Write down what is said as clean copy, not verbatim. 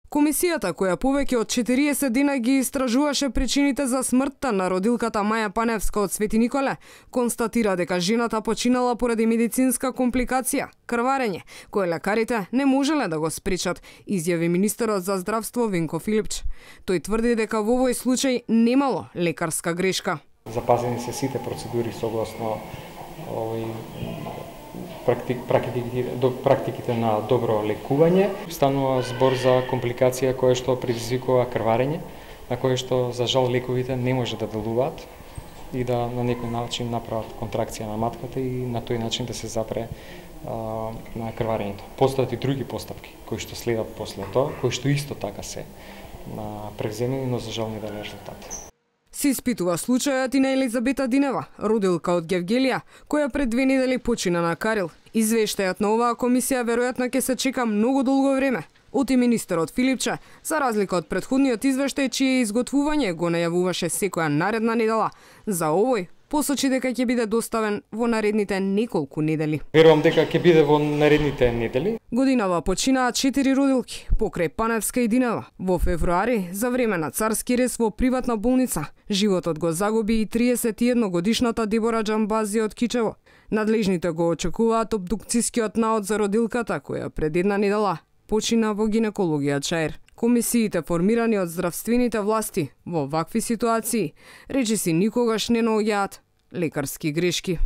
Комисијата, која повеќе од 40 дена ги истражуваше причините за смртта на родилката Маја Паневска од Свети Николе, констатира дека жената починала поради медицинска компликација, крварење, кое лекарите не можеле да го спречат, изјави министерот за здравство Венко Филипч. Тој тврди дека во овој случај немало лекарска грешка. Запазени се сите процедури согласно практиките на добро лекување. Станува збор за компликација која што предизвикува крварење, на кое што за жал лековите не може да делуваат и да на некој начин направат контракција на матката и на тој начин да се запре на крварењето. Постојат и други постапки кои што следат после тоа, кои што исто така се превземени, но за жал не дали резултат. Се испитува случајот и на Елизабета Динева, родилка од Гевгелија, која пред 2 недели почина на Карил. Извештајот на оваа комисија веројатно ќе се чека многу долго време. Оти министерот Филипче, за разлика од претходниот извештај чие изготвување го најавуваше секоја наредна недела, за овој посочи дека ќе биде доставен во наредните неколку недели. Верувам дека ќе биде во наредните недели. Годинава починаа 4 родилки, покрај Паневска и Динева. Во февруари, за време на царски рез во приватна болница, животот го загуби и 31-годишната Дебора Џамбази од Кичево. Надлежните го очекуваат обдукцијскиот наод за родилката, која пред 1 недела почина во гинекологија Чаир. Комисиите формирани од здравствените власти во вакви ситуации речиси никогаш не наоѓаат лекарски грешки.